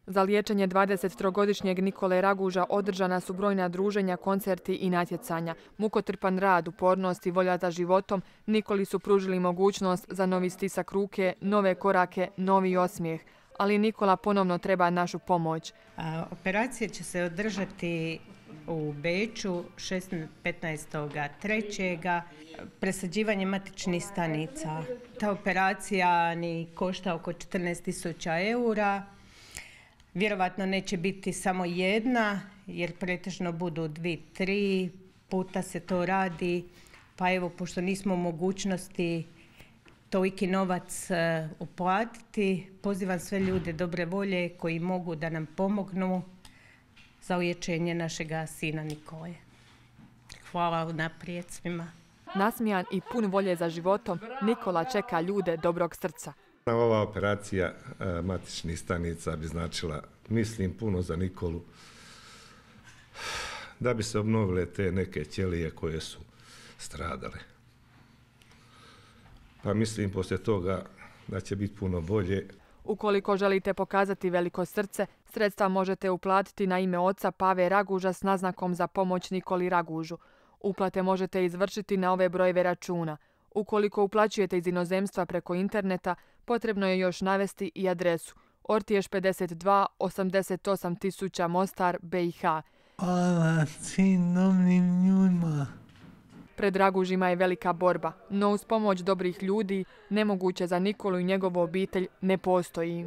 Za liječenje 23-godišnjeg Nikole Raguža održana su brojna druženja, koncerti i natjecanja. Mukotrpan rad, upornost i volja za životom Nikoli su pružili mogućnost za novi stisak ruke, nove korake, novi osmijeh. Ali Nikola ponovno treba našu pomoć. Operacija će se održati u Beču 15.3. presađivanje matičnih stanica. Ta operacija ni košta oko 14.000 eura. Vjerovatno neće biti samo jedna, jer pretežno budu 2-3 puta se to radi. Pa evo, pošto nismo u mogućnosti toliki novac uplatiti, pozivam sve ljude dobre volje koji mogu da nam pomognu za liječenje našega sina Nikole. Hvala naprijed svima. Nasmijan i pun volje za životom, Nikola čeka ljude dobrog srca. Ova operacija matičnih stanica bi značila, mislim, puno za Nikolu, da bi se obnovile te neke ćelije koje su stradale. Pa mislim poslije toga da će biti puno bolje. Ukoliko želite pokazati veliko srce, sredstva možete uplatiti na ime oca Pave Raguža s naznakom za pomoć Nikoli Ragužu. Uplate možete izvršiti na ove brojeve računa. Ukoliko uplaćujete iz inozemstva preko interneta, potrebno je još navesti i adresu Ortiješ 52 88 000 Mostar, BiH. Hvala svim dobrim ljudima. Pred Ragužima je velika borba, no uz pomoć dobrih ljudi nemoguće za Nikolu i njegovu obitelj ne postoji.